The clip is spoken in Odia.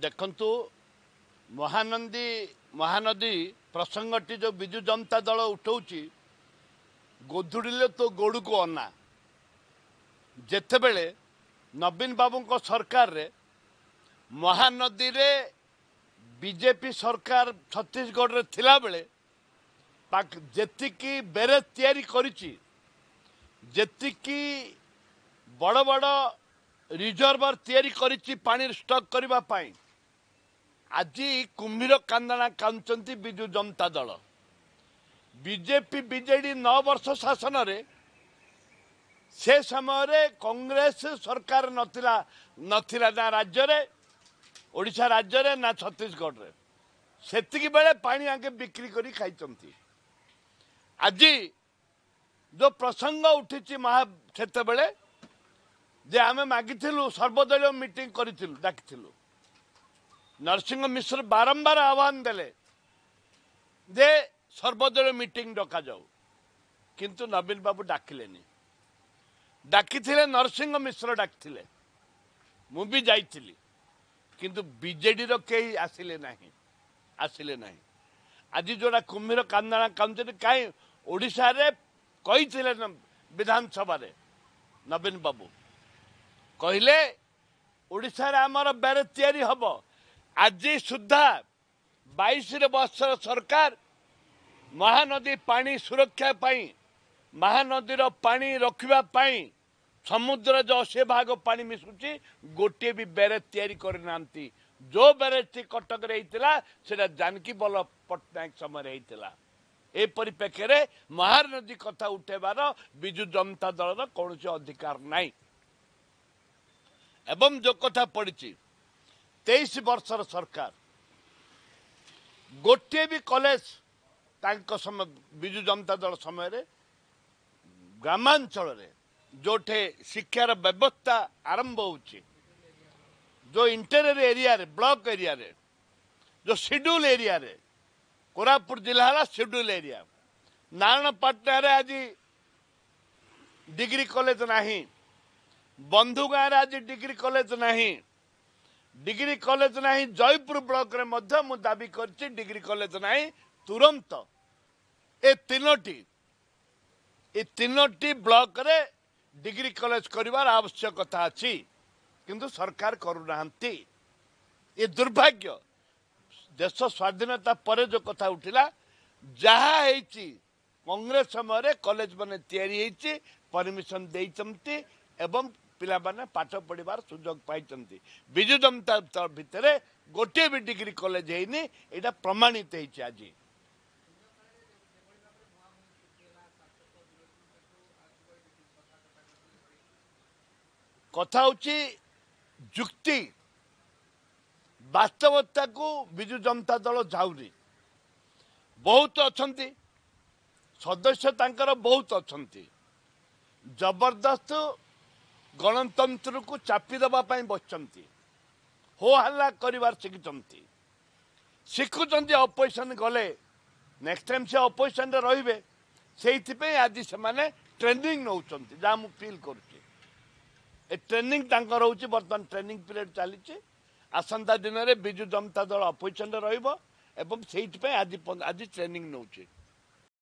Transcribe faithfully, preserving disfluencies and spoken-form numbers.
ଦେଖନ୍ତୁ, ମହାନଦୀ ମହାନଦୀ ପ୍ରସଙ୍ଗଟି ଯେଉଁ ବିଜୁ ଜନତା ଦଳ ଉଠାଉଛି, ଗୋଧୂଳିଲେ ତୋ ଗୋଡ଼କୁ ଅନା। ଯେତେବେଳେ ନବୀନ ବାବୁଙ୍କ ସରକାରରେ ମହାନଦୀରେ ବିଜେପି ସରକାର ଛତିଶଗଡ଼ରେ ଥିଲାବେଳେ ଯେତିକି ବ୍ୟାରେଜ ତିଆରି କରିଛି, ଯେତିକି ବଡ଼ ବଡ଼ ରିଜର୍ଭର ତିଆରି କରିଛି ପାଣି ଷ୍ଟକ୍ କରିବା ପାଇଁ, ଆଜି କୁମ୍ଭୀର କାନ୍ଦଣା କାନ୍ଦୁଛନ୍ତି ବିଜୁ ଜନତା ଦଳ। ବିଜେପି ବିଜେଡି ନଅ ବର୍ଷ ଶାସନରେ, ସେ ସମୟରେ କଂଗ୍ରେସ ସରକାର ନଥିଲା ନଥିଲା ନା ରାଜ୍ୟରେ, ଓଡ଼ିଶା ରାଜ୍ୟରେ ନା ଛତିଶଗଡ଼ରେ, ସେତିକି ବେଳେ ପାଣି ଆଗେ ବିକ୍ରି କରି ଖାଇଛନ୍ତି। ଆଜି ଯେଉଁ ପ୍ରସଙ୍ଗ ଉଠିଛି ମହା, ସେତେବେଳେ ଯେ ଆମେ ମାଗିଥିଲୁ, ସର୍ବଦଳୀୟ ମିଟିଂ କରିଥିଲୁ, ଡାକିଥିଲୁ, ନରସିଂହ ମିଶ୍ର ବାରମ୍ବାର ଆହ୍ୱାନ ଦେଲେ ଯେ ସର୍ବଦଳୀୟ ମିଟିଂ ଡକାଯାଉ, କିନ୍ତୁ ନବୀନ ବାବୁ ଡାକିଲେନି। ଡାକିଥିଲେ ନରସିଂହ ମିଶ୍ର ଡାକିଥିଲେ, ମୁଁ ବି ଯାଇଥିଲି, କିନ୍ତୁ ବିଜେଡିର କେହି ଆସିଲେ ନାହିଁ, ଆସିଲେ ନାହିଁ। ଆଜି ଯୋଉଟା କୁମ୍ଭୀର କାନ୍ଦଣା କାନ୍ଦୁଛନ୍ତି, କାହିଁ ଓଡ଼ିଶାରେ କହିଥିଲେ ବିଧାନସଭାରେ ନବୀନ ବାବୁ କହିଲେ ଓଡ଼ିଶାରେ ଆମର ବ୍ୟାରେଜ ତିଆରି ହବ। ଆଜି ସୁଦ୍ଧା ବାଇଶରେ ବର୍ଷର ସରକାର ମହାନଦୀ ପାଣି ସୁରକ୍ଷା ପାଇଁ, ମହାନଦୀର ପାଣି ରଖିବା ପାଇଁ, ସମୁଦ୍ର ଯେଉଁ ଅଶୀ ଭାଗ ପାଣି ମିଶୁଛି, ଗୋଟିଏ ବି ବ୍ୟାରେଜ ତିଆରି କରିନାହାନ୍ତି। ଯେଉଁ ବ୍ୟାରେଜଟି କଟକରେ ହେଇଥିଲା, ସେଇଟା ଜାନକୀ ବଲ୍ଲଭ ପଟ୍ଟନାୟକ ସମୟରେ ହେଇଥିଲା। ଏ ପରିପ୍ରେକ୍ଷୀରେ ମହାନଦୀ କଥା ଉଠେଇବାର ବିଜୁ ଜନତା ଦଳର କୌଣସି ଅଧିକାର ନାହିଁ। ଏବଂ ଯେଉଁ କଥା ପଡ଼ିଛି, ତେଇଶ ବର୍ଷର ସରକାର ଗୋଟିଏ ବି କଲେଜ ତାଙ୍କ ସମୟ, ବିଜୁ ଜନତା ଦଳ ସମୟରେ ଗ୍ରାମାଞ୍ଚଳରେ ଯେଉଁଠି ଶିକ୍ଷାର ବ୍ୟବସ୍ଥା ଆରମ୍ଭ ହେଉଛି, ଯେଉଁ ଇଣ୍ଟେରିୟର ଏରିଆରେ, ବ୍ଲକ ଏରିଆରେ, ଯେଉଁ ସିଡ୍ୟୁଲ ଏରିଆରେ, କୋରାପୁଟ ଜିଲ୍ଲା ହେଲା ସିଡ୍ୟୁଲ ଏରିଆ, ନାରାୟଣପାଟଣାରେ ଆଜି ଡିଗ୍ରୀ କଲେଜ ନାହିଁ, ବନ୍ଧୁଗାଁରେ ଆଜି ଡିଗ୍ରୀ କଲେଜ ନାହିଁ, ଡିଗ୍ରୀ କଲେଜ ନାହିଁ। ଜୟପୁର ବ୍ଲକରେ ମଧ୍ୟ ମୁଁ ଦାବି କରିଛି, ଡିଗ୍ରୀ କଲେଜ ନାହିଁ। ତୁରନ୍ତ ଏ ତିନୋଟି ଏ ତିନୋଟି ବ୍ଲକରେ ଡିଗ୍ରୀ କଲେଜ କରିବାର ଆବଶ୍ୟକତା ଅଛି, କିନ୍ତୁ ସରକାର କରୁନାହାନ୍ତି। ଏ ଦୁର୍ଭାଗ୍ୟ। ଦେଶ ସ୍ୱାଧୀନତା ପରେ ଯେଉଁ କଥା ଉଠିଲା, ଯାହା ହେଇଛି କଂଗ୍ରେସ ସମୟରେ କଲେଜ ମାନେ ତିଆରି ହେଇଛି, ପରମିଶନ ଦେଇଛନ୍ତି ଏବଂ ପିଲାମାନେ ପାଠ ପଢ଼ିବାର ସୁଯୋଗ ପାଇଛନ୍ତି। ବିଜୁ ଜନତା ଦଳ ଭିତରେ ଗୋଟିଏ ବି ଡିଗ୍ରୀ କଲେଜ ହେଇନି, ଏଇଟା ପ୍ରମାଣିତ ହେଇଛି ଆଜି। କଥା ହେଉଛି ଯୁକ୍ତି ବାସ୍ତବତାକୁ ବିଜୁ ଜନତା ଦଳ ଯାଉନି। ବହୁତ ଅଛନ୍ତି ସଦସ୍ୟ ତାଙ୍କର, ବହୁତ ଅଛନ୍ତି, ଜବରଦସ୍ତ ଗଣତନ୍ତ୍ରକୁ ଚାପି ଦେବା ପାଇଁ ବସିଛନ୍ତି, ହୋ ହାଲ୍ଲା କରିବାର ଶିଖିଛନ୍ତି, ଶିଖୁଛନ୍ତି। ଅପୋଜିସନ୍ ଗଲେ ନେକ୍ସଟ ଟାଇମ୍ ସେ ଅପୋଜିସନ୍ରେ ରହିବେ, ସେଇଥିପାଇଁ ଆଜି ସେମାନେ ଟ୍ରେନିଂ ନେଉଛନ୍ତି, ଯାହା ମୁଁ ଫିଲ୍ କରୁଛି। ଏ ଟ୍ରେନିଂ ତାଙ୍କର ହେଉଛି, ବର୍ତ୍ତମାନ ଟ୍ରେନିଂ ପିରିୟଡ଼ ଚାଲିଛି। ଆସନ୍ତା ଦିନରେ ବିଜୁ ଜନତା ଦଳ ଅପୋଜିସନ୍ରେ ରହିବ ଏବଂ ସେଇଥିପାଇଁ ଆଜି ଆଜି ଟ୍ରେନିଂ ନେଉଛି।